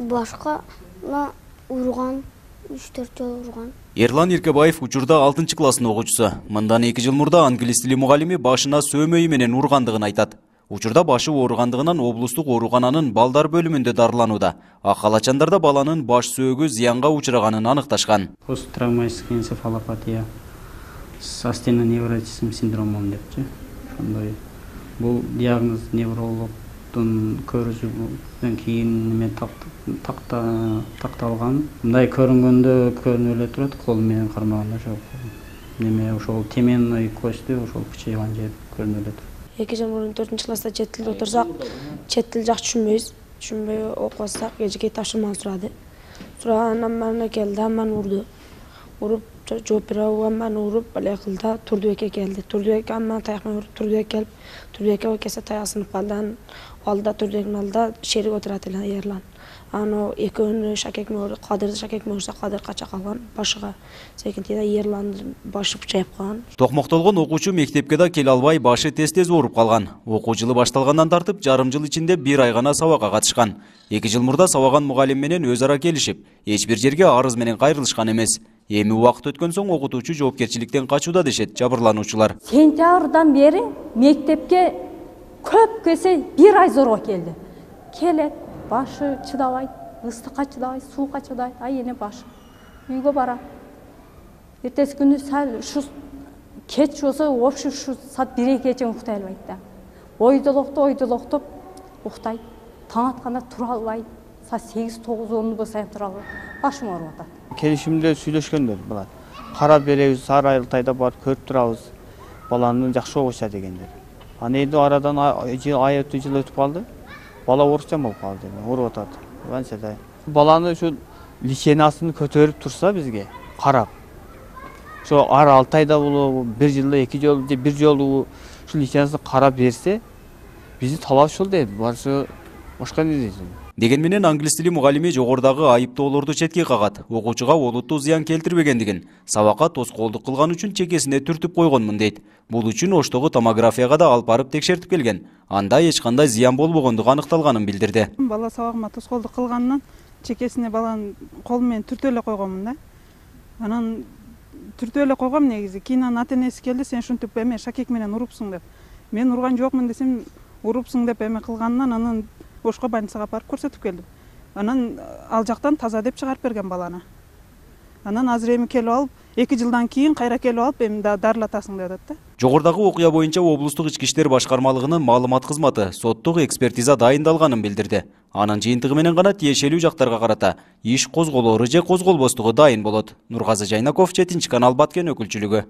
башка урган, 3-4 жолу урган. Эрлан Эркебаев учурда 6-класстын окуучусу. Мындан 2 жыл мурда англис тили мугалими башына сөөмөйү менен ургандыгын айтат. Учурда башы ооругандыгынан облустук оорукананын балдар бөлүмүндө дарыланууда. Акалачандарда баланын баш сөөгү зыянга учураганын аныкташкан. Посттравматическая энцефалопатия с астеноневротизм синдромом депчи. Ошондой бул диагноз неврологдун көрүүсүнөн кийин мен такталган. Мындай көрүнгөндө көрүнүп эле турат, кол менен кармаганда ошол теменный кости ошол кычайган жер көрүнүп эле турат. 2 жыл мурун 4-класста чет тилди отурсак, чет тил жакшы түшүнбөй окубасак, эжеке тапшырманы сурады. Сурагандан мана келди, маны урду. Уруп жооп бере албаган, уруп эле кылды, Турдубекке келди. Турдубек мана таяк менен уруп, Турдубек келип, Турдубекке кесе таяк сынып калды. Алдыда Турдубектин алдыда шерик отурат эле Эрлан. Аны экөөнү Шакекме, Кадырды Шакекме урса, Кадыр кача калган, башыга секинтиде Эрландын башы чайып калган. Токмоктолгон окуучу мектепке да келе албай, башы тез ооруп калган. Окуу жылы башталгандан тартып, жарым жыл ичинде 1 ай гана сабакка катышкан. 2 жыл мурда сабаган мугалим менен өз ара келишип, эч бир жерге арыз менен кайрылышкан эмес. Эми убакыт өткөн соң окутуучу жоопкерчиликтен качууда дешет жабырлануучулар. Сентябрдан бери мектепке көп кесе 1 ай зорго келди. Келет, башы чыдабайт, ыстыкка чыдабайт, суукка чыдабайт, эне башы. Үйгө барам. Эртеси күнү сал ушу кеч болсо, вообще ушу саат 1-2 чейин уктай албайт да. Ойдолоктоп уктайт. Таң атканда тура албайт. Саат 8-9-10 болсо тура албайт. Башым ооруп атат. Келишимде сүйлөшкөндөр булар. Карап беребиз, ар айылтайда барып көрүп турабыз. Баланы жакшы окуша дегендер. Эми арадан ай өтүп калды. Бала орусчан болуп калды, ооруп атат. Анчада баланы ушу личинасын көтөрүп турса бизге карап. Ошо ар 6 айда болобу, 1 жылда 2 жолу же 1 жолу ушу личинасын карап берсе, биздин талап ушул дейт. Башка эмне дейсиң? Деген менен англис тили мугалими жогорудагы айыптоолорду четке кагат. Окуучуга олуттуу зыян келтирбегендигин, сабакка тоскоолдук кылган үчүн чекесине түртүп койгонмун дейт. Бул үчүн Оштогу томографияга да алып барып текшертип келген. Анда эч кандай зыян болбогондугу аныкталганын билдирди. Бала сабагыма тоскоолдук кылганынан чекесине баланын колу менен түртүп эле койгонмун да. Анан түртүп эле койгом негизи. Кийин анын ата-энеси келди, сен ушинтип эме шакек менен урупсуң деп. Мен урган жокмун десем, урупсуң деп эме кылганынан анан Ошко больницага барып көрсөтүп келдим. Анан ал жактан таза деп чыгарып берген баланы. Анан азыр эми келип алып, 2 жылдан кийин кайра келип алып, эми дарылатасың деп атат да. Жогорудагы окуя боюнча облустук ички иштер башкармалыгынын маалымат кызматы соттук экспертиза дайындалганын билдирди. Анын жыйынтыгы менен гана тиешелүү жактарга карата иш козголоору же козголбостугу дайын болот. Нургазы Жайнаков, 7 канал Баткен өкүлчүлүгү.